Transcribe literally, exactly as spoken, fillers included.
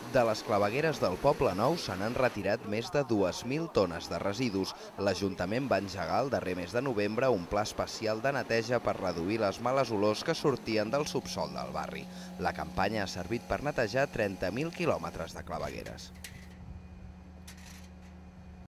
De les clavegueres del Poble Nou se n'han retirat més de dues mil tones de residus. L'Ajuntament va engegar el darrer mes de novembre un pla especial de neteja per reduir les males olors que sortien del subsòl del barri. La campanya ha servit per netejar trenta mil quilòmetres de clavegueres.